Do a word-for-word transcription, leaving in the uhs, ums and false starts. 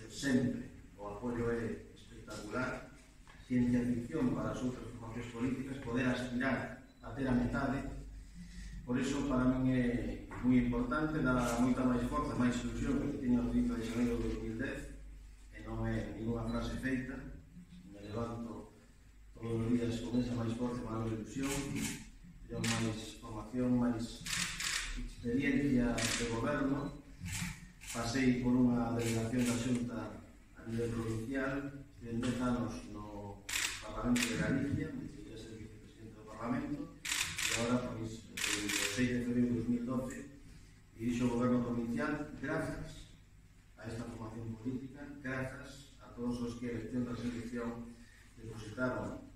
sempre o apoio é espectacular. Ciencia ficción para as outras formacións políticas, poder aspirar a ter a metade. Por iso, para min é moi importante, dá moita máis forza, máis ilusión que tiña o trinta de xaneiro de dos mil dez, e non é ninguna frase feita. Me levanto todos os días con esa máis forza, máis ilusión, teño máis formación, máis experiencia de goberno. Pasei por unha delegación da Xunta a nivel provincial, en dez anos no Parlamento de Galicia, me cheguei a ser vicepresidente do Parlamento, e agora, pois, o seis de febrero de dos mil doce, dirixo o goberno provincial grazas a esta formación política, grazas a todos os que a elección da selección depositaron